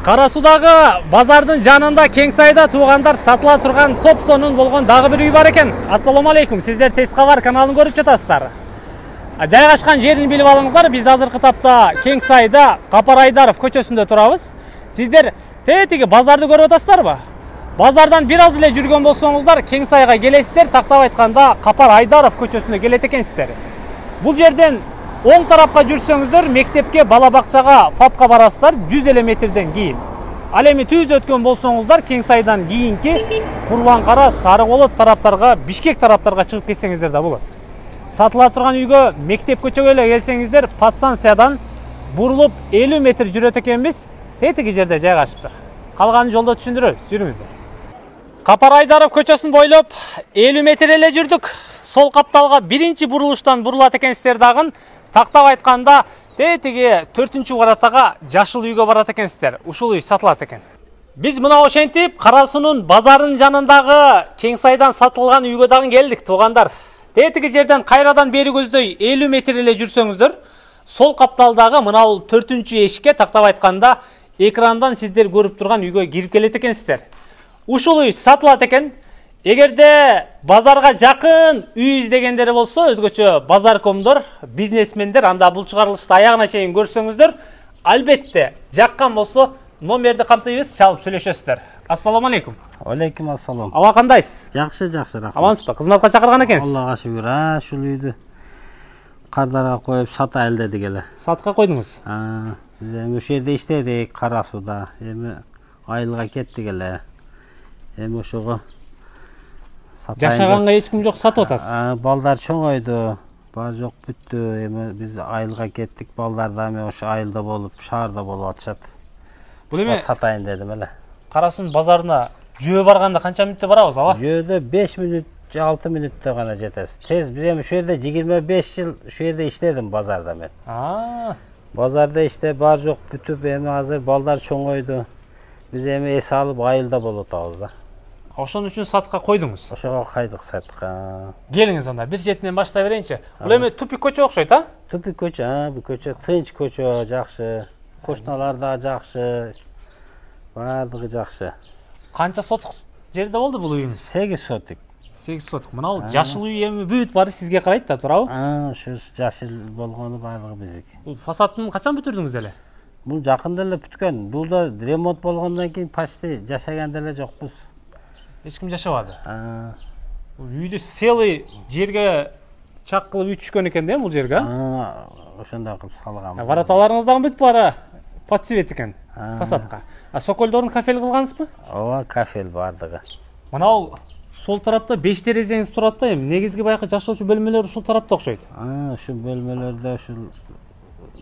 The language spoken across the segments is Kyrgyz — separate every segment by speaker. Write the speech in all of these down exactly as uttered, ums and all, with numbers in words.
Speaker 1: Кара Суудагы базардын жанында кең сайда туугандар сатыла турган сопсонун болгон дагы бир үй бар экен. Ассаламу алейкум. Сиздер Тез кабар каналын көрүп жатасыздар. Жайгашкан жерин билип алыңыздар. Биз азыркы тапта кең сайда Капар Айдаров көчөсүндө турабыз. Сиздер тетиги базарды көрүп атасыздарбы? Базардан бир аз эле жүргөн болсоңуздар, кең сайга келесиздер. Тактап айтканда Капар Айдаров көчөсүнө келет экенсиздер. Бул жерден оң тарапка жүрсөңүздөр, мектепке, бала бакчага, фапка барасыздар жүз эле метрден кийин. Ал эми түз өткөн болсоңуздар, кең сайдан кийинки Курбан-Кара, Сарыболот тараптарга, Бишкек тараптарга чыгып кетсеңиздер да болот. Сатыла турган үйгө, мектеп көчөгө эле келсеңиздер, подстанциядан бурулуп элүү метр жүрөт экенбиз. Тетиги жерде жайгашыптыр. Калганын жолдо түшүндүрөбүз. Жүрүңүздөр. Капар Айдаров көчөсүн бойлоп элүү метр эле жүрдүк. Сол капталга биринчи бурулуштан бурулат экенсиздер дагы. Тактап айтканда, тетиги төртүнчү баратага жашыл үйгө барат экенсиздер. Ушул үй сатылат экен. Биз мына ошентип Кара Суунун базарынын жанындагы кең сайдан сатылган үйгө дагы келдик, туугандар. Тетиги жерден кайрадан бери көздөй элүү метр эле жүрсөңүздөр, сол капталдагы мына бул төртүнчү эшикке тактап айтканда экрандан сиздер көрүп турган үйгө кирип келет экенсиздер. Ушул үй сатылат экен. Эгерде базарга жакын үй издегендер болсо, өзгөчө базаркомдор, бизнесмендер, анда бул чыгарылышты аягына чейин көрсөңүздөр, албетте жаккан болсо номерди камтыйбыз, чалып сүйлөшөсүздөр. Ассаламу алейкум.
Speaker 2: Алейкум ассалам.
Speaker 1: Аба кандайсыз?
Speaker 2: Жакшы, жакшы, рахмат.
Speaker 1: Амансызбы? Кызматка чакырган экенсиз?
Speaker 2: Аллага шүгүр. А, ушул үйдү кардарга коюп сатайлы дедик эле.
Speaker 1: Сатка койдуңуз?
Speaker 2: А, биз эми ошол жерде иштедик, Кара Сууда. Эми айылга кеттик эле. Эми ошого
Speaker 1: жашаганга эч ким жок, сатып атасыз.
Speaker 2: Балдар чоңойду, бар жок бүттү. Эми биз айылга кеттик, балдар да эми ошо айылда болуп, шаарда болуп атышат. Бул эми сатайын дедим эле.
Speaker 1: Кара Суунун базарына жөө барганда канча мүнөттө барабыз, аба?
Speaker 2: Жөөдө беш мүнөт, алты мүнөттө гана жетесиз. Тез, биз эми ошол жерде жыйырма беш жыл ошол жерде иштедим базарда мен.
Speaker 1: А.
Speaker 2: Базарда иште бар жок бүтүп, эми азыр балдар чоңойду. Биз эми эс алып айылда болуп атабыз да.
Speaker 1: Ошон үчүн сатка койдуңуз.
Speaker 2: Ошого кайдык сатка.
Speaker 1: Келиңиз анда, бир четинен баштай берейинчи. Бул эми тупик көчө окшойт, а?
Speaker 2: Тупик көчө, а, бул көчө тынч көчө, жакшы. Кошуналар да жакшы. Бардыгы жакшы.
Speaker 1: Канча сотук жерде болду бул үйүңүз?
Speaker 2: сегиз сотук.
Speaker 1: сегиз сотук. Мына бул жашыл үй эми бүт баары сизге карайт да, туурабы?
Speaker 2: А, ошо жашыл болгону бардыгы биздики.
Speaker 1: Бул фасадын качан бүтүрдүңүз эле?
Speaker 2: Бул жакында эле бүткөн. Бул да ремонт болгондон кийин почти жашаган деле жокпуз.
Speaker 1: Эч ким жашабады.
Speaker 2: А.
Speaker 1: Бул үйдү селый жерге чак кылып үй түшкөн экен да бул жерге, а?
Speaker 2: А, ошондой кылып салганбыз.
Speaker 1: Вараталарыңыз дагы бүт баары под цвет экен фасадка. А соколдорун кафел кылгансызбы?
Speaker 2: Ооба, кафел бардыгы.
Speaker 1: Мына бул сол тарапта беш терезеңиз турат да, эми негизги байкы жашоочу бөлмөлөр ушул тарапта окшойт.
Speaker 2: А, ушул бөлмөлөрдө ушул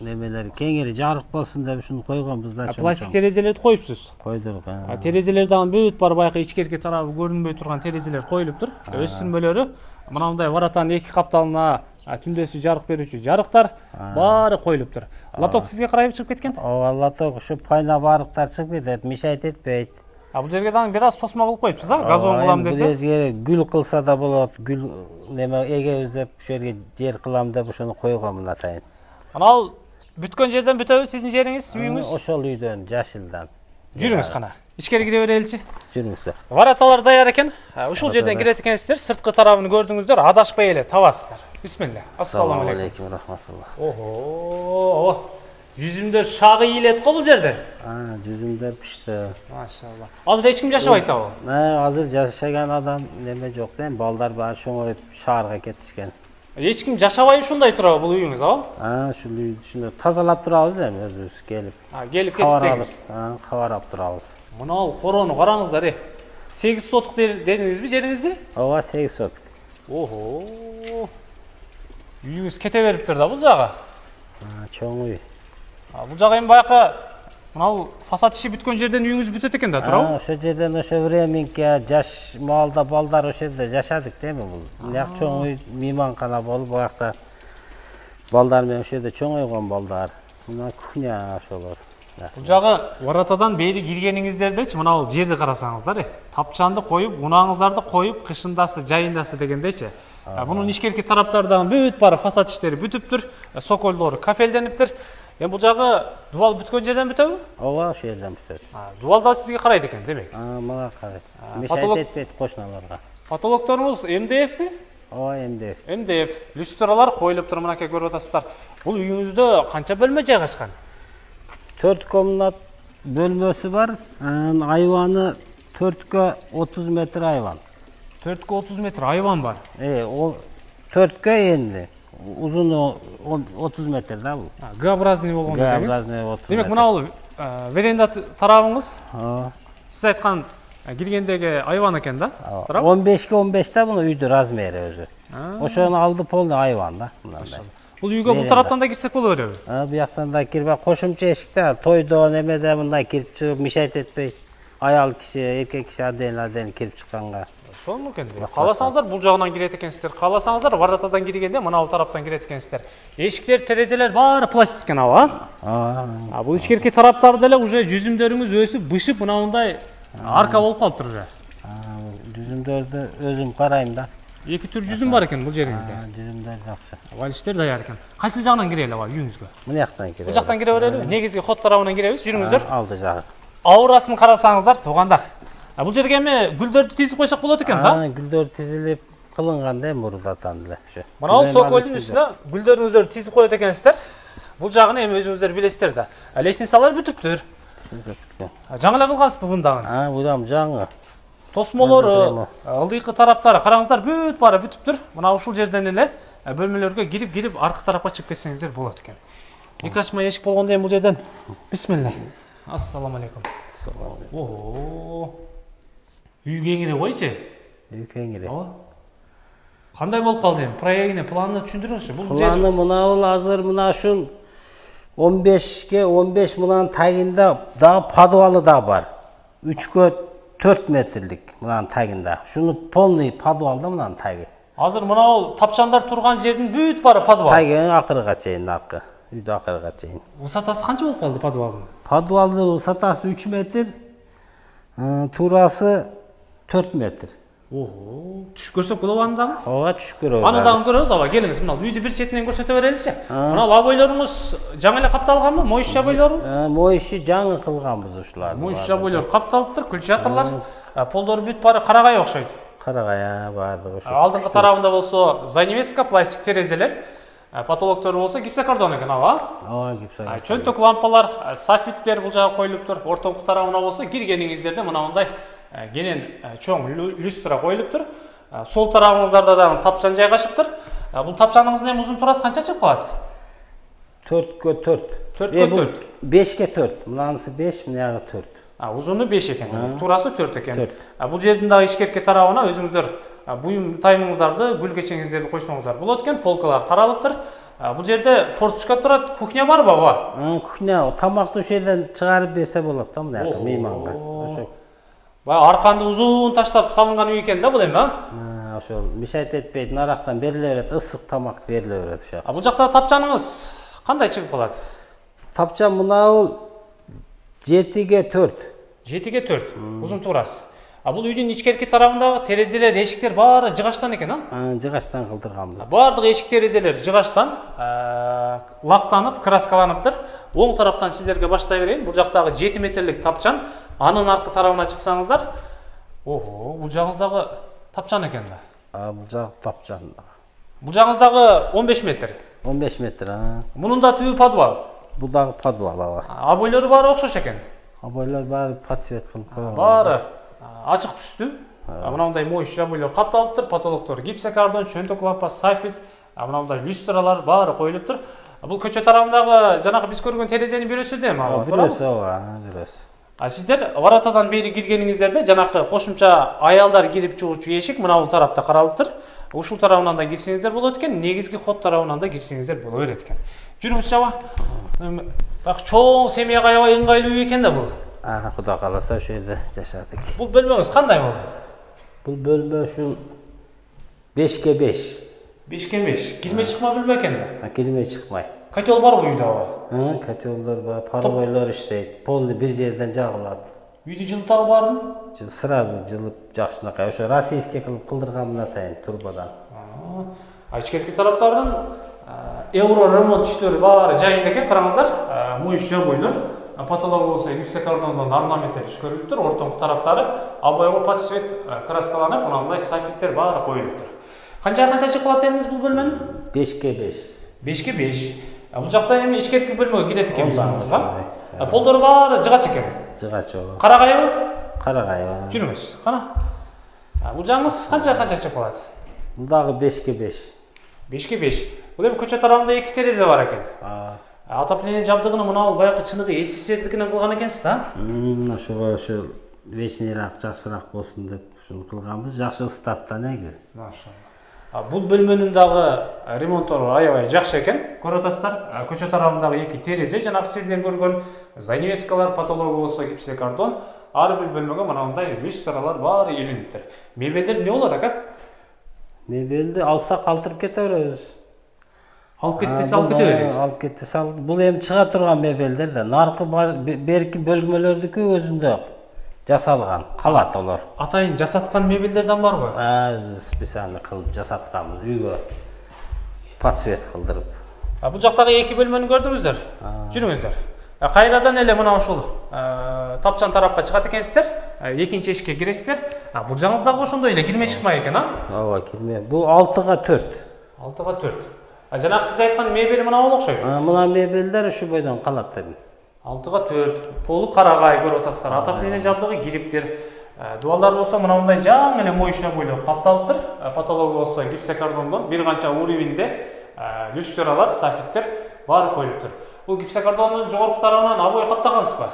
Speaker 2: немелер кеңири жарык болсун деп ушуну койгонбуз да.
Speaker 1: Пластик терезелерди коюпсуз.
Speaker 2: Койдук.
Speaker 1: А терезелер дагы бүт бар байкы ичкерки тарабы көрүнбөй турган терезелер коюлуптур. Өстүрмөлөрү мына мындай варатанын эки капталына түндөсү жарык берүүчү жарыктар баары коюлуптур. Лоток сизге карайып чыгып кеткен?
Speaker 2: Ооба, лоток ушу пайна барыктар чыгып кетет, мешайт этпейт.
Speaker 1: А бул жерге дагы бир аз тосмо кылып коюпсуз, а? Газон кылам десе.
Speaker 2: Бул жерге гүл кылса да болот, гүл неме эгебиз деп ошол жерге жер кылам деп ошону койгонмун атайын.
Speaker 1: Анал бүткөн жерден бүтөбү сиздин жериңиз, үйүңүз?
Speaker 2: Ошол үйдөн, жашылдан.
Speaker 1: Жүрүңүз кана. Ичкери кире береличи.
Speaker 2: Жүрүңүздөр.
Speaker 1: Вараталар даяр экен. Ушул жерден кирет экенсиздер, сырткы тарабын көрдүңүздөр, адашпай эле табасыздар. Бисмилля. Ассаламу алейкум.
Speaker 2: Рахматулла.
Speaker 1: Ого. Жүзүмдөр шагы ийилет го бул жерде.
Speaker 2: А, жүзүмдөр пишти.
Speaker 1: Машалла. Азыр эч ким жашабайт абы?
Speaker 2: Э, азыр жашаган адам неме жок да, балдар баары чоңоюп шаарга кетишкен.
Speaker 1: Эч ким жашабай ушундай турабы бул үйүңүз, абы?
Speaker 2: А, ушул үйдү ушундай тазалап турабыз эми өзүбүз келип.
Speaker 1: А, келип кетиптеңиз.
Speaker 2: А, кабарап турабыз.
Speaker 1: Мына ал корону караңыздар, э. сегиз сотук дедиңизби жериңизди?
Speaker 2: Ооба, сегиз сотук.
Speaker 1: Ого. Үйүңүз кете бериптир да бул жагы.
Speaker 2: А, чоң үй.
Speaker 1: А, бул жагы эми байкы мына бул фасад иши бүткөн жерден үйүңүз бүтөт экен да, туурабы?
Speaker 2: А, ошол жерден ошо временке жаш маалда балдар ошол жерде жашадык да эми бул. Мына чоң үй мейманкана болуп, баягы балдар менен ошол жерде чоңойгон балдар. Мына кухня ошолор.
Speaker 1: Бул жагы варатадан бери киргениңиздердечи мына бул жерди карасаңыздар, тапчанды коюп, унаңыздарды коюп, кышындасы, жайындасы дегендечи. Мунун ичкерки тараптардан бүт баары фасад иштери бүтүптүр, соколдору кафелдениптир. Эми бул жагы дубал бүткөн жерден бүтөбү?
Speaker 2: Ооба, ошол жерден бүтөт.
Speaker 1: Дубал да сизге карайт экен, демек.
Speaker 2: Мага карайт. Мешайт этпейт кошуналарга.
Speaker 1: Патологторуңуз эм дэ эфпи?
Speaker 2: Ооба, эм дэ эф.
Speaker 1: эм дэ эф. Люстралар коюлуптур, мынакей көрүп атасыздар. Бул үйүңүздө канча бөлмө жайгашкан?
Speaker 2: төрт комнат бөлмөсү бар. Айваны төрткө отуз метр айван.
Speaker 1: төрткө отуз метр айван бар.
Speaker 2: Э, төрткө энди. Узуну отуз метр да бул.
Speaker 1: Г-образный болгон дегениз.
Speaker 2: Г-образный отуз метр.
Speaker 1: Демек, мына бул веранда тарабыңыз.
Speaker 2: Ооба.
Speaker 1: Сиз айткан киргендеги айван экен да?
Speaker 2: он бешке он беш да бул үйдүн размери өзү. Ошону алды полный айван да, мындай.
Speaker 1: Бул үйгө бул тараптан да кирсек боло береби?
Speaker 2: Бу жактан да кирбей, кошумча эшикте тойдо немеде мындай кирип чыгып мешайт этпей, аял киши, эркек киши аден-аден кирип чыкканга.
Speaker 1: Ошол экен. Кааласаңыздар бул жагынан кирет экенсиздер. Кааласаңыздар варатадан киргенде мына бул тараптан кирет экенсиздер. Эшиктер, терезелер баары пластик экен аба.
Speaker 2: Ооба.
Speaker 1: Бул ичкерки тараптары деле уже жүзүмдөрүңүз өсүп, бышып, мына мындай арка болуп калыптыр уже.
Speaker 2: Жүзүмдөрдү өзүм карайм да.
Speaker 1: Эки түр жүзүм бар экен бул жериңизде.
Speaker 2: Жүзүмдөр жакшы.
Speaker 1: Валиштер даяр экен. Кайсы жагынан кирели аба үйүңүзгө?
Speaker 2: Мына жактан кире.
Speaker 1: Бул жактан кире берели. Негизги ход тарабынан киребиз. Жүрүңүздөр.
Speaker 2: Алды жагы.
Speaker 1: Аурасын карасаңыздар, туугандар. Бул жерге эми гүлдөрдү тизип койсок болот экен да?
Speaker 2: Гүлдөр тизилип кылынган да мурдатан эле ошо.
Speaker 1: Мына бул сокольдун үстүнө гүлдөрүңүздөрдү тизип коет экенсиздер. Бул жагын эми өзүңүздөр билесиздер да. Лестницалар бүтүптүр. Жаңы эле кылгансызбы бундагы?
Speaker 2: А, будам жаңы.
Speaker 1: Тосмолору, ылдыйкы тараптары караңыздар, бүт баары бүтүптүр. Мына ушул жерден эле бөлмөлөргө кирип, кирип аркы тарапка чыгып кетсеңиздер болот экен. Эки ачма эшик болгондо эми бул жерден бисмилла. Ассаламу алейкум.
Speaker 2: Ассаламу алейкум.
Speaker 1: Оо. Үй кеңири койчу.
Speaker 2: Үй кеңири.
Speaker 1: Ооба. Кандай болуп калды эми? Проектини, планын түшүндүрүңүзчү. Бул
Speaker 2: планы мына бул азыр мына ушул он бешке он беш мынанын тагында дагы подвалы да бар. үчкө төрт метрлик мынанын тагында. Шуну полный подвал да мынанын таги.
Speaker 1: Азыр мына бул тапчандар турган жердин бүт баары подвал.
Speaker 2: Таги акырга чейин аркы. Үйдө акырга чейин.
Speaker 1: Высотасы канча болуп калды подвалдын?
Speaker 2: Подвалдын высотасы үч метр, туурасы төрт метр.
Speaker 1: Ого, түшүп көрсөк болобу аны дагы?
Speaker 2: Ооба, түшүп көрөбүз.
Speaker 1: Аны дагы көрөбүз, аба келиңиз, мына үйдү бир четинен көрсөтө береличи. Мына лабойлоруңуз жаңы эле капталганбы? Моюш жабойлору?
Speaker 2: Моюшу жаңы кылганбыз ушуларды.
Speaker 1: Моюш жабойлор капталыптыр, күлчатырлар. Полдору бүт баары карагай окшойт.
Speaker 2: Карагай баардыгы ошо.
Speaker 1: Алдыңкы тарабында болсо занавеска, пластик терезелер. Патологтору болсо гипсокартон экен, аба?
Speaker 2: Ооба, гипсокартон.
Speaker 1: Чөнтөк лампалар, софиттер бул жагы коюлуптур. Ортоңку тарабына болсо киргениңиздерде мына мындай кенен чоң люстра коюлуптур. Сол тарабыңыздарда дагы тапчан жайгашыптыр. Бул тапчаныңыздын эми узун турасы канча чыгып калат?
Speaker 2: төрткө төрт.
Speaker 1: төрткө төрт.
Speaker 2: бешке төрт. Мынанысы беш, мынагы төрт.
Speaker 1: Узуну беш экен, турасы төрт экен. Бул жердин дагы ичкерки тарабына өзүңүздөр буюм таймыңыздарды, гүл кечеңиздерди койсоңуздар болот экен. Полкалар каралыптыр. Бул жерде форточка турат, кухня барбы, аба?
Speaker 2: Кухня, тамакты ошол жерден чыгарып берсе болот да, мына мейманга. Ошо.
Speaker 1: Баягы арканды узун таштап салынган үй экен да бул эми,
Speaker 2: а? Ошол мешайт этпейт, нарактан бериле берет, ысык тамак бериле берет ошо.
Speaker 1: А бул жакта тапчаныңыз кандай чыгып калат?
Speaker 2: Тапчан мына бул жетиге төрт.
Speaker 1: жетиге төрт. Узун турасы. А бул үйдүн ичкерки тарабындагы терезелер, эшиктер баары жыгачтан экен, а?
Speaker 2: Жыгачтан кылдырганбыз.
Speaker 1: Баардык эшик терезелер жыгачтан, лактанып, краскаланыптыр. Оң тараптан сиздерге баштай берейин. Бул жактагы жети метрлик тапчан, анын аркы тарабына чыксаңыздар, ого, бул жагыңыздагы тапчан экен да.
Speaker 2: А бул жак тапчан.
Speaker 1: Бул жагыңыздагы он беш метр.
Speaker 2: он беш метр, а.
Speaker 1: Мунун да түбү подвал.
Speaker 2: Бул дагы подвал, аба.
Speaker 1: Обойлору баары окшош экен.
Speaker 2: Обойлор баары подсвет кылып койгон.
Speaker 1: Баары ачык түстүү. Мындай моюш жабойлор капталыптыр, потолоктор гипсокартон, чөнтөк лампа, софит, мындай люстралар баары коюлуптур. Бул көчө тарабындагы жанагы биз көргөн терезенин бирөөсү да эми, аба?
Speaker 2: Бирөөсү, ооба, бирөөсү.
Speaker 1: А сиздер варатадан бери киргениңиздерде жанакы кошумча аялдар кирип чыгуучу эшик мына бул тарапта каралыптыр. Ушул тарабынан да кирсеңиздер болот экен, негизги ход тарабынан да кирсеңиздер боло берет экен. Жүрүңүзчү, аба. Бак чоң семьяга аябай ыңгайлуу үй экен да бул.
Speaker 2: А, Кудай кааласа ошол жерде жашадык.
Speaker 1: Бул бөлмөңүз кандай болду?
Speaker 2: Бул бөлмө ушул бешке беш.
Speaker 1: бешке беш. Кирме чыкма бөлмө экен да.
Speaker 2: Кирме чыкмай.
Speaker 1: Котел барбы үйдө, аба?
Speaker 2: Котелдор бар, паровойлор иштейт. Полный бир жерден жагылат.
Speaker 1: Үйдү жылытабы баарын?
Speaker 2: Жыл сразу жылып жакшынакай. Ошо российский кылып кылдырганмын атайын турбадан.
Speaker 1: А ичкерки тараптардын евро ремонт иштери баары жайында экен, караңыздар. Моюш жабойлор, потолок болсо гипсокартондон орнаменттер түшкөрүлүптүр, ортоңку тараптары обойго под цвет краскаланып, мындай софиттер баары коюлуптур. Канчага канча чыгып калат дедиңиз бул бөлмөнү?
Speaker 2: бешке беш.
Speaker 1: бешке беш. Бул жакта эми ичкерки бөлмөгө кирет экенбиз аңызга. Полдору баары жыгач экен.
Speaker 2: Жыгач оо.
Speaker 1: Карагайбы?
Speaker 2: Карагай.
Speaker 1: Жүрүңүз. Кана. Бул жаңыз канча канча чыгып калат?
Speaker 2: Бул дагы бешке беш.
Speaker 1: бешке беш. Бул эми көчө тарабында эки терезе бар экен. Отопление жабдыгын мына бул баягы чыныгы СССРдикинен кылган экенсиз да?
Speaker 2: Мм, ошого ошо вечнирак, жакшыраак болсун деп ушуну кылганбыз. Жакшы ыстатта негизи.
Speaker 1: Машалла. Бул бөлмөнүн дагы ремонтору аябай жакшы экен. Көрүп атасыздар, көчө тарабындагы эки терезе, жанагы сиздер көргөн занавескалар, потологу болсо гипсокартон, ар бир бөлмөгө мындай люстралар баары илиниптир. Мебелдер эмне болот ака?
Speaker 2: Мебелди алсак калтырып кете беребиз.
Speaker 1: Алып кетсе алып кете беребиз.
Speaker 2: Алып кетсе алып. Бул эми чыга турган мебелдер да. Наркы берки бөлмөлөрдүкү өзүндө жасалган, калат олар.
Speaker 1: Атайын жасаткан мебелдерден барбы?
Speaker 2: А, өзүбүз специально кылып жасатканбыз үйгө. Под цвет кылдырып.
Speaker 1: Бул жактагы эки бөлмөнү көрдүңүздөр. Жүрүңүздөр. Кайрадан эле мына ушул тапчан тарапка чыгат экенсиздер. Экинчи эшикке киресиздер. Бул жаңыз дагы ошондой эле кирме чыкмай экен, а?
Speaker 2: Ооба, кирме. Бул алтыга төрт.
Speaker 1: алтыга төрт. Жанагы сиз айткан мебель мына болуп окшойт.
Speaker 2: Мына мебелдер ушу бойдон калат эми.
Speaker 1: алтыга төрт. Полу карагай көрүп атасыздар. Отопление жабдыгы кириптир. Дуалдар болсо мындай жаңы эле моюша бойлоп капталыптыр. Потологу болсо гипсокартондон бир канча уровеньде люстралар, софиттер баары коюлуптур. Бул гипсокартондун жогорку тарабынан обой каптагансызбы?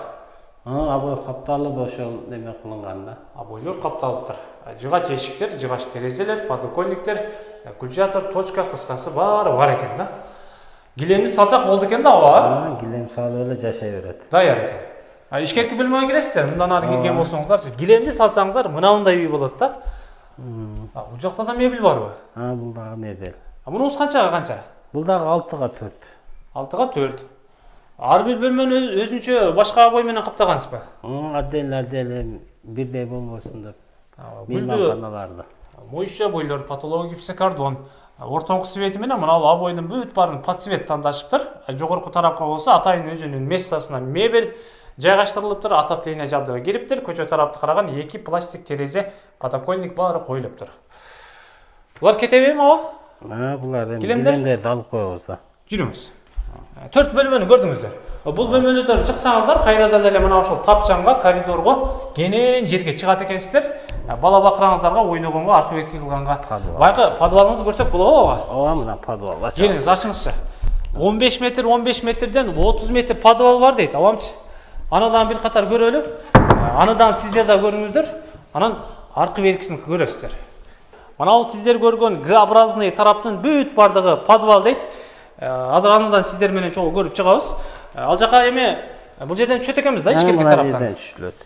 Speaker 2: А, обой капталып ошол неме кылынган да.
Speaker 1: Обойлор капталыптыр. Жыгач эшиктер, жыгач терезелер, подоконниктер, кульчатор, точка, кыскасы баары бар экен да. Гилемди салсак болду экен да, ооба.
Speaker 2: Гилем салып эле жашай берет.
Speaker 1: Даяр экен. Ишкерки бөлмөгө киресиздер, мындан ары кирген болсоңуздар, гилемди салсаңыздар мындай үй болот да. Бул жакта да мебель барбы?
Speaker 2: А, бул дагы мебель.
Speaker 1: Мунуңуз канчага канча?
Speaker 2: Бул дагы алтыга төрт.
Speaker 1: алтыга төрт. Ар бир бөлмөнү өзүнчө башка обой менен каптагансызбы?
Speaker 2: Отдельно отдельно бирдей болбосун деп. Мейманканаларда.
Speaker 1: Моюша бойлор, потолок гипсокартон, ортоңку свети менен мына бул обойдун бүт баарын под цвет тандашыптыр. Жогорку тарапка болсо атайын өзүнүн местосуна мебель жайгаштырылыптыр, отопление жабдыгы кириптир, көчө тарапты караган эки пластик терезе, подоконник баары коюлуптур. Булар кетеби эми ооба?
Speaker 2: А, булар эми гилемдерди алып коебуз да.
Speaker 1: Жүрүңүз. төрт бөлмөнү көрдүңүздөр. Бул бөлмөлөрдөн чыксаңыздар, кайрадан эле мына ошол тапчанга, коридорго, кенен жерге чыгат экенсиздер. Бала бакыраңыздарга ойногонго, аркы берки кылганга. Байкы подвалыңызды көрсөк болобу?
Speaker 2: Ооба, мына подвал.
Speaker 1: Келиңиз, ачыңызчы. он беш метр, он беш метрден отуз метр подвал бар дейт, абамчы. Анадан бир катар көрөлү. Анадан сиздер да көрүңүздөр. Анан аркы беркисин көрөсүздөр. Мына бул сиздер көргөн Г-образный тараптын бүт бардыгы подвал дейт. Азыр анадан сиздер менен чогуу көрүп чыгабыз. Ал жака эми бул жерден түшөт экенбиз да, ичкерки тараптан.
Speaker 2: Мына жерден түшүлөт.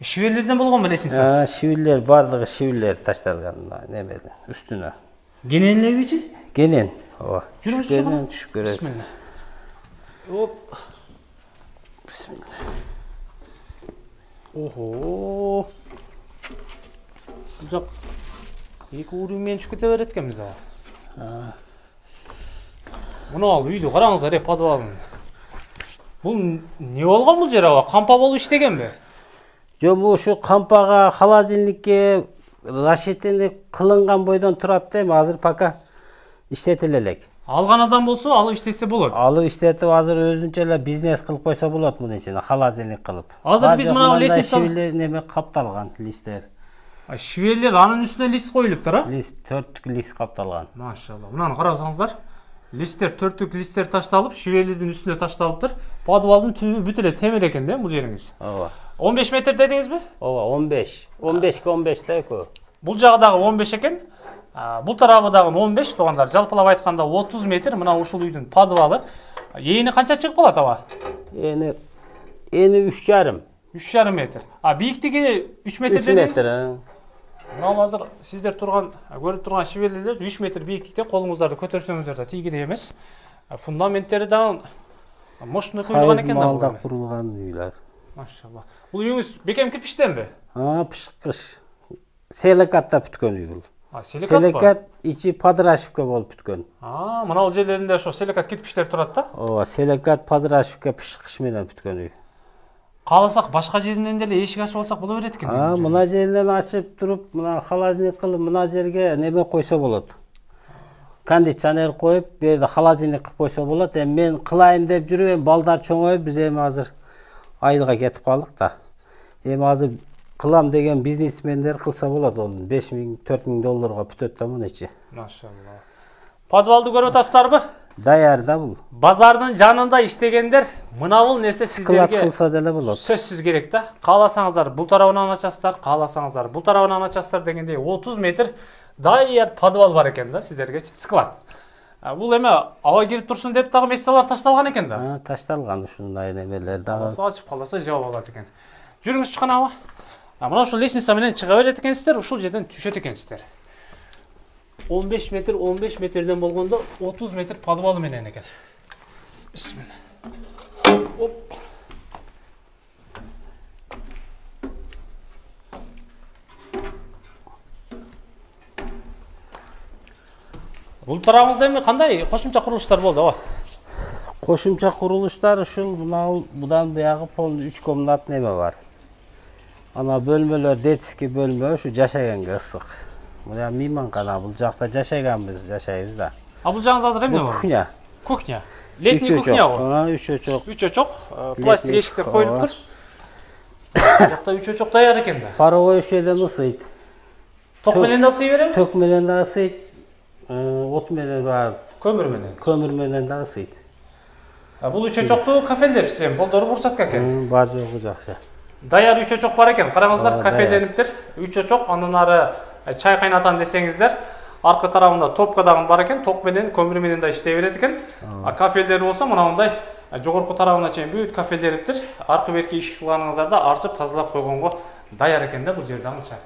Speaker 1: Шиверлерден болгон белесиңиз?
Speaker 2: А, шиверлер бардыгы шиверлер ташталган немеден, үстүнө.
Speaker 1: Кенен элебичи?
Speaker 2: Кенен. Ооба.
Speaker 1: Жүрүңүз,
Speaker 2: түшүп көрөт.
Speaker 1: Бисмилла. Оп.
Speaker 2: Бисмилла.
Speaker 1: Охо. Бул жак эки уровень менен түшүп кете берет экенбиз да. Мына ал үйдү караңыздар, э, подвалын. Бул не болгон бул жер аба? Кампа болуп иштегенби?
Speaker 2: Жок, ушу кампага, холодильникке расчетенде кылынган бойдон турат да, эми азыр пока иштетиле элек.
Speaker 1: Алган адам болсо алып иштесе болот.
Speaker 2: Алып иштетип азыр өзүнчө эле бизнес кылып койсо болот мунун ичине, холодильник кылып.
Speaker 1: Азыр биз мына лестница
Speaker 2: неме капталган листтер.
Speaker 1: Шиверлер анын үстүнө лист коюлуптур, а?
Speaker 2: Лист, төрттүк лист капталган.
Speaker 1: Машалла. Мынаны карасаңыздар. Листтер, төрттүк листтер ташталып, шиверлердин үстүнө ташталыптыр. Подвалдын түбү бүт эле темир экен да, бул жериңиз.
Speaker 2: Ооба.
Speaker 1: он беш метр дедиңизби?
Speaker 2: Ооба, он беш. он бешке он беш да экөө.
Speaker 1: Бул жагы дагы он беш экен. Бул тарабы дагы он беш, туугандар. Жалпылап айтканда отуз метр. Мына ушул үйдүн подвалы. Эни канча чыгып калат аба?
Speaker 2: Эни эни үч жарым.
Speaker 1: үч жарым метр. А бииктиги үч метр
Speaker 2: дедиңиз? үч метр.
Speaker 1: Мына азыр сиздер турган, көрүп турган шиверлер үч метр бииктикте, колуңуздарды көтөрсөңүздөр да тийгидей эмес. Фундаменттери дагы мощный куюлган экен да.
Speaker 2: Малда курулган үйлөр.
Speaker 1: Машалла. Бул үйүңүз бекем кирпичтенби?
Speaker 2: А, пышкыш. Силикатта бүткөн үй бул. Селекат ичи Подрашевка болуп бүткөн.
Speaker 1: А, мына бул жерлеринде ошо селекат кирпичтер турат да?
Speaker 2: Ооба, селекат Подрашевка пышкыш менен бүткөн үй.
Speaker 1: Кааласак башка жеринен деле эшик ачып алсак боло берет экен.
Speaker 2: А, мына жеринен ачып туруп, мына холодильник кылып, мына жерге неме койсо болот. Кондиционер коюп, бу жерде холодильник кылып койсо болот. Эми мен кылайын деп жүрүп, эми балдар чоңоюп, биз эми азыр айылга кетип калдык да. Эми азыр кылам деген бизнесмендер кылса болот, onu беш миң, төрт миң долларга бүтөт да муну ичи.
Speaker 1: Машалла. Подвалды көрүп атасыздарбы?
Speaker 2: Даяр да бул.
Speaker 1: Базардын жанында иштегендер мына бул нерсе сиздерге
Speaker 2: кылса деле болот.
Speaker 1: Сөзсүз керек да. Кааласаңыздар бул тарабынан ачасыздар, кааласаңыздар бул тарабынан ачасыздар дегендей отуз метр даяр подвал бар экен да сиздерге. Склад. Бул эме аба кирип турсун деп дагы месторлор ташталган экен да.
Speaker 2: Ташталган ушундай немелер дагы.
Speaker 1: Ачып калса жабып алат экен. Жүрүңүз чыккан аба. Мына ушул лестница менен чыга берет экенсиздер, ушул жерден түшөт экенсиздер. он беш метр, он беш метрден болгондо отуз метр подвалы менен экен. Бисмилла. Оп. Бул тарабыңызда эми кандай кошумча курулуштар болду, аба?
Speaker 2: Кошумча курулуштар ушул мына будан буягы полный үч комнат неме бар. Ана бөлмөлөр детский бөлмө, ушу жашаганга ысык. Мына мейманкана, бул жакта жашаганбыз, жашайбыз да.
Speaker 1: А бул жагыңызда азыр эмне бар?
Speaker 2: Кухня.
Speaker 1: Кухня. Летний кухня го.
Speaker 2: А, үч очок.
Speaker 1: Үч очок, пластик эшиктер коюлуптур. Жакта үч очок даяр экен да.
Speaker 2: Паровой ушул жерден ысыйт.
Speaker 1: Ток менен да ысый береби?
Speaker 2: Ток менен да ысыйт. От менен бар.
Speaker 1: Көмүр менен.
Speaker 2: Көмүр менен да ысыйт.
Speaker 1: А бул үч очокту кафелер сем, болдору бурсатка экен.
Speaker 2: Бар жогу жакшы.
Speaker 1: Даяр үч очок бар экен. Караңыздар, кафелениптир. үч очок, андан ары чай кайнатам десеңиздер, аркы тарабында топка дагы бар экен. Ток менен, көмүр менен да иштей берет экен. А кафелдер болсо мына мындай жогорку тарабына чейин бүт кафелдениптир. Аркы берки ишик кылганыңыздарда арчып тазалап койгонго даяр экен да бул жерде анча.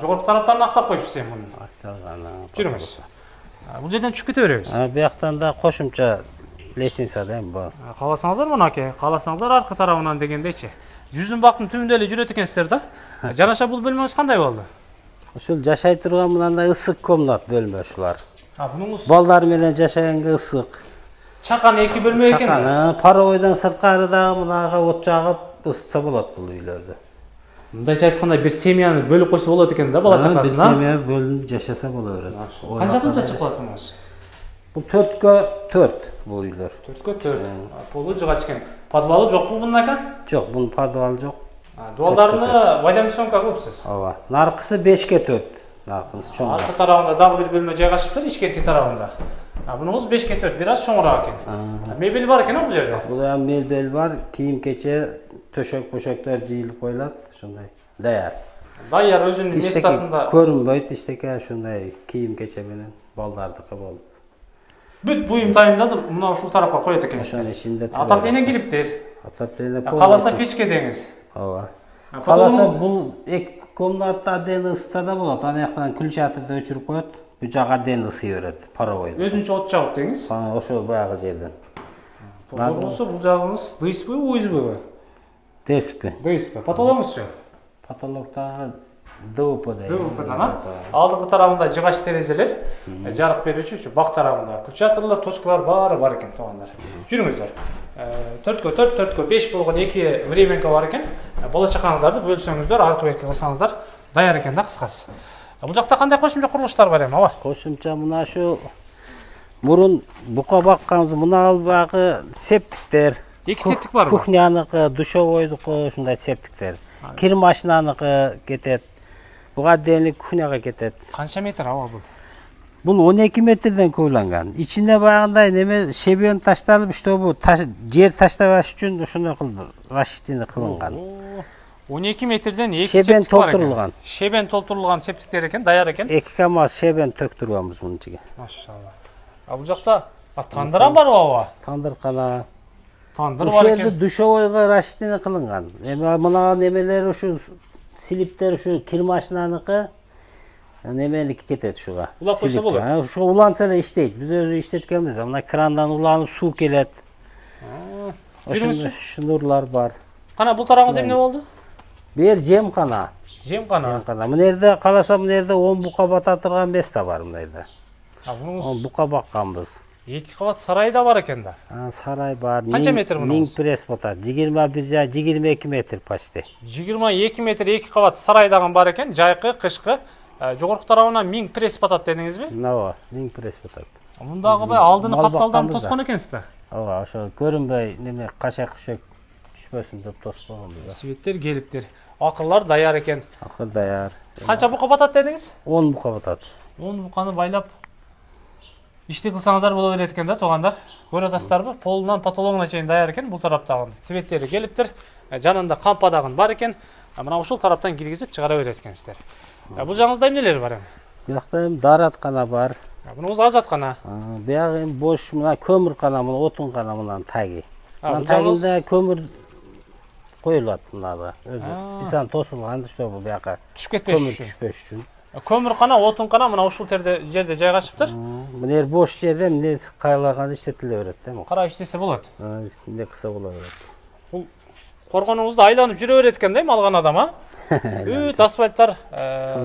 Speaker 1: Жогорку тараптарын актап коюпсуз эми муну.
Speaker 2: Акталган.
Speaker 1: Жүрүңүз. Бул жерден түшүп кете беребиз.
Speaker 2: А бияктан да кошумча лестница да эми бар.
Speaker 1: Кааласаңыздар мынакей, кааласаңыздар аркы тарабынан дегендейчи. Жүзүн бактын түбүндө эле жүрөт экенсиздер да. Жанаша бул бөлмөңүз кандай болду?
Speaker 2: Ушул жашай турган мындай ысык комнат бөлмө ушулар.
Speaker 1: А бунуңуз
Speaker 2: балдар менен жашаганга ысык.
Speaker 1: Чакан эки бөлмө экен.
Speaker 2: Чакан, паровойдон сырткары дагы мынага от жагып ысытса болот бул үйлөрдө.
Speaker 1: Мындайча айтканда бир семьяны бөлүп койсо болот экен да бала чакасына.
Speaker 2: Бир семья бөлүнүп жашаса боло берет.
Speaker 1: Канча кынча чыгып калат мунуңуз?
Speaker 2: Бул төрткө төрт бул үйлөр.
Speaker 1: төрткө төрт. Полу жыгач экен. Подвалы жокпу мунун экен?
Speaker 2: Жок, бунун подвалы жок.
Speaker 1: Дуалдарыны водомесонка кылыпсыз.
Speaker 2: Ооба. Наркысы бешке төрт. Наркысы чоң.
Speaker 1: Аркы тарабында дагы бир бөлмө жайгашыптыр, ичкерки тарабында. А бунуңуз бешке төрт, бир аз чоңураак экен. Мебель бар экен бул жерде.
Speaker 2: Бул эми мебель бар, кийим кече, төшөк-бөшөктөр жыйылып коюлат, ошондой. Даяр.
Speaker 1: Даяр өзүнүн местасында.
Speaker 2: Көрүнбөйт, иштеке ошондой кийим кече менен балдардыкы болуп.
Speaker 1: Бүт буюм дайындалды, мына ушул тарапка коет экенсиз.
Speaker 2: Ошонун ичинде.
Speaker 1: Отопление кириптир.
Speaker 2: Отопление.
Speaker 1: Каласа печке деңиз.
Speaker 2: Ооба. Каласа бул эки комнатта ден ысытса да болот. Аны жактан ключаторду өчүрүп коет. Бу жага ден ысый берет, паровой.
Speaker 1: Өзүнчө от жагып деңиз.
Speaker 2: Ошол баягы жерден.
Speaker 1: Болсо бул жагыңыз дыспы, уйзбы?
Speaker 2: Деспи.
Speaker 1: Деспи. Потологуңузчу?
Speaker 2: Потолокта ДВП да.
Speaker 1: ДВП да. Алдыңкы тарабында жыгач терезелер, жарык берүүчү, бак тарабында ключаторлор, точкалар баары бар экен туугандар. Жүрүңүздөр. төрткө төрт, төрткө беш болгон эки временка бар экен. Бала чакаңыздарды бөлсөңүздөр, аркы берки кылсаңыздар даяр экен да кыскасы. Бул жакта кандай кошумча курулуштар бар эми, аба?
Speaker 2: Кошумча мына шу мурун бука бакканбыз, мына албагы септиктер.
Speaker 1: Эки септик барбы?
Speaker 2: Кухняныкы, душевойдуку ушундай септиктер. Кир машинаныкы кетет. Буга дейин кухняга кетет.
Speaker 1: Канча метр аба бул?
Speaker 2: Бул он эки метрден көбүлөнгөн. Ичинде баягындай неме шебен ташталып, чтобы жер таштабаш үчүн ошондой кылып расчетini кылынган.
Speaker 1: он эки метрден эки
Speaker 2: шебен толтурулган.
Speaker 1: Шебен толтурулган септиктер экен, даяр экен.
Speaker 2: эки камаз шебен төктүргөнбүз мунун ичиге.
Speaker 1: Машалла. А бул жакта тандырам барбы аба?
Speaker 2: Тандыркана.
Speaker 1: Тандыр бар экен.
Speaker 2: Ошол душевойго расчетini кылынган. Эми мына немелер ушу слиптер ушу кир машинаныкы неменики кетет ушуга.
Speaker 1: Улап койсо болот.
Speaker 2: Ушу уланса эле иштейт. Биз өзү иштеткенбиз. Мына крандан уланып суу келет. Ошондой шнурлар бар.
Speaker 1: Кана бул тарабыңыз эмне болду?
Speaker 2: Бер жемкана.
Speaker 1: Жемкана.
Speaker 2: Жемкана. Мына жерде каласа мына жерде он бука бата турган бес та бар мына жерде.
Speaker 1: А мунуңуз
Speaker 2: он бука бакканбыз.
Speaker 1: эки кабат сарай да бар экен да.
Speaker 2: Сарай бар.
Speaker 1: Канча метр мунуңуз?
Speaker 2: Миң пресс батат. жыйырма бир жа жыйырма эки метр почти.
Speaker 1: жыйырма эки метр эки кабат сарай дагы бар экен. Жайкы, кышкы. Жогорку тарабына миң пресс батат дедиңизби?
Speaker 2: Ооба, миң пресс батат.
Speaker 1: Мундагы бай алдыны капталдан тоскон экенсиз да.
Speaker 2: Ооба, ошо көрүнбөй неме кашак күшөк түшпөсүн деп тосуп койгонбуз.
Speaker 1: Светтер келиптир. Акырлар даяр экен.
Speaker 2: Акыр даяр.
Speaker 1: Канча бука батат дедиңиз?
Speaker 2: он бука батат.
Speaker 1: он буканы байлап ишти кылсаңыздар боло берет экен да, туугандар. Көрүп атасыздарбы? Полунан потологуна чейин даяр экен. Бул тараптагы светтери келиптир. Жанында кампа дагы бар экен. Мына ушул тараптан киргизип чыгара берет экенсиздер. Бул жагыңызда эмнелер бар эми?
Speaker 2: Биякта эми дараткана бар.
Speaker 1: Мунуңуз ажаткана.
Speaker 2: Биягы эми бош мына көмүркана, мына отункана мындан таги.
Speaker 1: Мына
Speaker 2: тагында көмүр коюлат мынада. Өзү специально тосулган, чтобы бияка
Speaker 1: түшүп кетпеш
Speaker 2: көмүр түшпөш үчүн.
Speaker 1: Көмүркана, отункана мына ушул жерде жерде жайгашыптыр.
Speaker 2: Мына жер бош жерде эмне кайлаганда иштетиле берет да.
Speaker 1: Карап иштесе болот.
Speaker 2: Эмне кылса боло берет.
Speaker 1: Бул коргонуңузда айланып жүрө берет экен да, алган адам, а? Бүт асфальттар,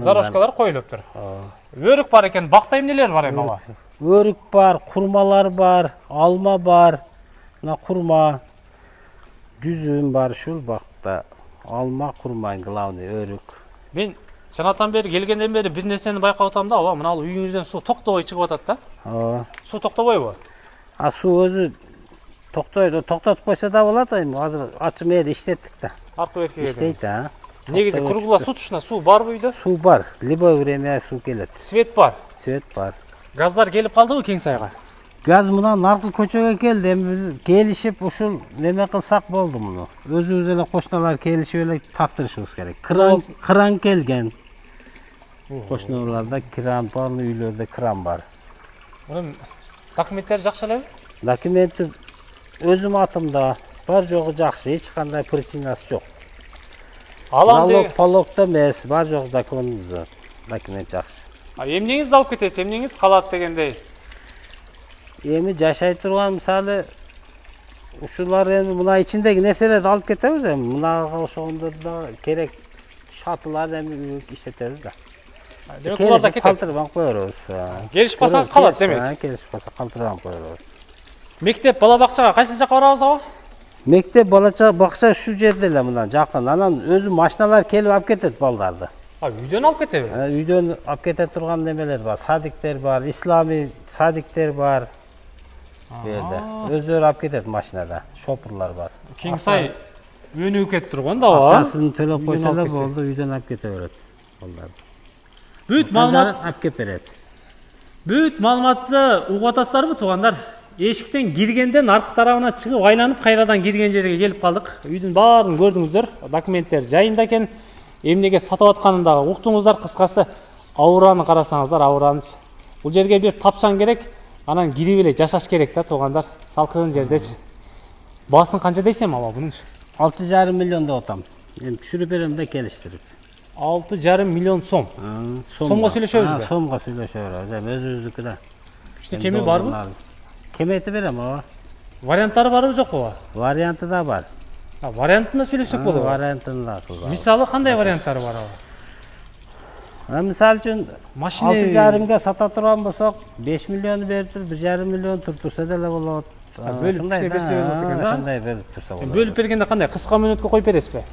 Speaker 1: дорожкалар коюлуптур. Өрүк бар экен, бакта эмнелер бар эми ала?
Speaker 2: Өрүк бар, курмалар бар, алма бар. Мына курма, жүзүм бар ушул бакта. Алма, курма главный өрүк.
Speaker 1: Мен жанатан бери келгенден бери бир нерсени байкап атам да, ооба, мына ал үйүңүздөн суу токтобой чыгып атат да.
Speaker 2: Ооба.
Speaker 1: Суу токтобойбу?
Speaker 2: А суу өзү токтойт, токтотуп койсо да болот, эми азыр ачым эде иштеттик да.
Speaker 1: Аркы берки
Speaker 2: иштейт, а.
Speaker 1: Негизи круглосуточно суу барбы үйдө?
Speaker 2: Суу бар, любое время суу келет.
Speaker 1: Свет бар.
Speaker 2: Свет бар.
Speaker 1: Газдар келип калдыбы кең сайга?
Speaker 2: Газ мына наркы көчөгө келди. Эми биз келишип ушул неме кылсак болду муну. Өзүбүз эле кошуналар келишип эле тартырышыбыз керек. Кран кран келген. Кошуналарда кран бар, үйлөрдө кран бар.
Speaker 1: Мунун документтери жакшы элеби?
Speaker 2: Документи өзүм атымда бар жогу жакшы, эч кандай причинасы жок.
Speaker 1: Алам
Speaker 2: Залог пологдо эмес, бар жогу документ документ жакшы.
Speaker 1: А эмнеңиз алып кетесиз, эмнеңиз калат дегендей?
Speaker 2: Эми жашай турган мисалы ушулар эми мына ичиндеги нерселерди алып кетебиз эми. Мунага ошондор да керек шатылар эми иштетебиз да.
Speaker 1: Демек булар да кетет.
Speaker 2: Калтырып алып коербуз.
Speaker 1: Келишип калсаңыз калат демек.
Speaker 2: Келишип калса калтырып алып коербуз.
Speaker 1: Мектеп, бала бакчага кайсы жака барабыз ага?
Speaker 2: Мектеп, бала бакча ушул жерде эле мына жакын. Анан өзү машиналар келип алып кетет балдарды.
Speaker 1: А үйдөн алып кетеби?
Speaker 2: Үйдөн алып кете турган немелер бар, садиктер бар, ислами садиктер бар. Берде. Өздөрү алып кетет машинада, шопурлар бар.
Speaker 1: Кең сай өнүгүп кетип турган да, ооба.
Speaker 2: Акчасын төлөп койсо эле болду, үйдөн алып кете берет балдарды.
Speaker 1: Бүт маалымат
Speaker 2: алып кеп берет.
Speaker 1: Бүт маалыматты угуп атасыздарбы, туугандар? Эшиктен киргенден аркы тарабына чыгып айланып кайрадан кирген жерге келип калдык. Үйдүн баарын көрдүңүздөр. Документтер жайында экен. Эмнеге сатып атканын дагы уктуңуздар. Кыскасы, аураны карасаңыздар, аураныч. Бул жерге бир тапчаң керек, анан кирип эле жашаш керек да, туугандар. Салкын жердечи. Баасын канча дейсем ала бунун?
Speaker 2: алты жарым миллион деп атам. Эми түшүрүп берем да келиштирип.
Speaker 1: алты жарым миллион сом. Сомго сүйлөшөбүзбү?
Speaker 2: Сомго сүйлөшөбүз. Эми өзүбүздүкү да.
Speaker 1: Иште кеми барбы?
Speaker 2: Кемети берем, ооба.
Speaker 1: Варианттары барбы жокпу?
Speaker 2: Варианты да бар.
Speaker 1: А, вариантында сүйлөшсөк болот.
Speaker 2: Вариантын да кылабыз.
Speaker 1: Мисалы кандай варианттары бар ага?
Speaker 2: Мисалы үчүн
Speaker 1: машина
Speaker 2: алты жарымга сата турган болсок, беш миллион берип туруп, бир жарым миллион туруп турса деле болот.
Speaker 1: Бөлүп берсе болот экен да.
Speaker 2: Ошондой берип турса болот.
Speaker 1: Бөлүп бергенде кандай? Кыска мөөнөткө коюп бересизби?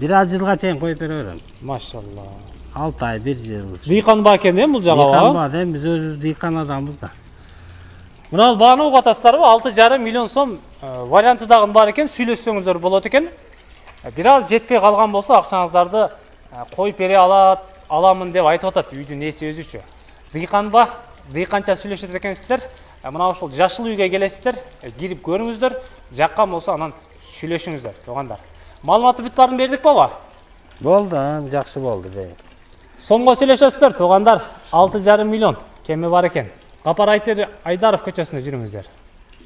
Speaker 2: бир аз жылга чейин коюп бере берем.
Speaker 1: Машалла.
Speaker 2: алты ай, бир жыл.
Speaker 1: Дыйканба экен да бул жагы.
Speaker 2: Дыйканба да, биз өзүбүз дыйкан адамбыз да.
Speaker 1: Мына бааны угуп атасыздарбы? алты жарым миллион сом варианты дагы бар экен, сүйлөшсөңүздөр болот экен. Бир аз жетпей калган болсо акчаңыздарды коюп бере алат, аламын деп айтып атат үйдүн ээси өзүчө. Дыйканба, дыйканча сүйлөшөт экенсиздер. Мына ушул жашыл үйгө келесиздер, кирип көрүңүздөр, жаккан болсо анан сүйлөшүңүздөр, туугандар. Маалыматты бүт баарын бердик баба?
Speaker 2: Болду, жакшы болду.
Speaker 1: Сомго сүйлөшөсүздөр, туугандар. алты жарым миллион кеми бар экен. Капар Айдаров көчөсүндө жүрүңүздөр.